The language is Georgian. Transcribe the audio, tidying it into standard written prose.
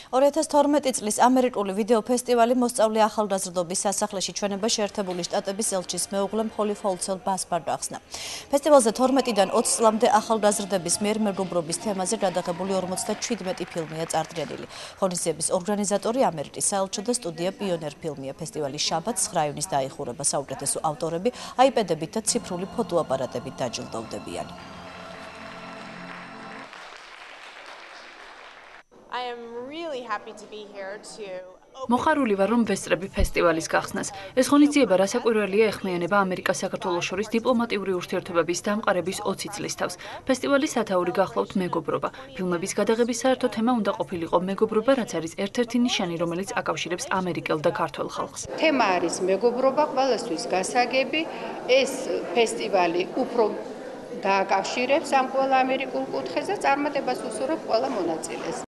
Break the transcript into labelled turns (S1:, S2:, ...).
S1: 2012 წლის ამერიკული ვიდეო ფესტივალი მოსწავლე ახალგაზრდობის სასახლეში ჩვენება შეერთებული შტატების ელჩის მეუღლემ ჰოლი ფოლცელ ბასბარდ ახსნა. ფესტივალზე 12-დან 20 წლამდე ახალგაზრდების მიერ მეგობრობის თემაზე გადაღებული 57 ფილმია წარდგენილი. ღონისძიების ორგანიზატორი ამერიკის საელჩო და სტუდია პიონერ ფილმია. ფესტივალის შაბათს 9 ივნის დაიხურება. საუკეთესო ავტორები აიპედებით და ციფრული ფოტოაპარატებით დაჯილდოვდებიან.
S2: მოხარული ვარ, რომ ვესწრები ფესტივალის გახსნას. ეს ღონისძიება რასაკვირველია ეხმიანება ამერიკა-საქართველოს შორის დიპლომატიური ურთიერთობების დამყარების 20 წლის თავს. ფესტივალის სათაური გახლავთ მეგობრობა. ფილმების გადაღების საერთო თემა უნდა ყოფილიყო მეგობრობა, რაც არის ერთ-ერთი ნიშანი, რომელიც აკავშირებს ამერიკელ და ქართველ ხალხს.
S3: თემა არის მეგობრობა, ყველასთვის გასაგები. ეს ფესტივალი უფრო დააკავშირებს ამ ყველა ამერიკულ კუთხეს და წარმატებას უსურვებს ყველა მონაწილეს.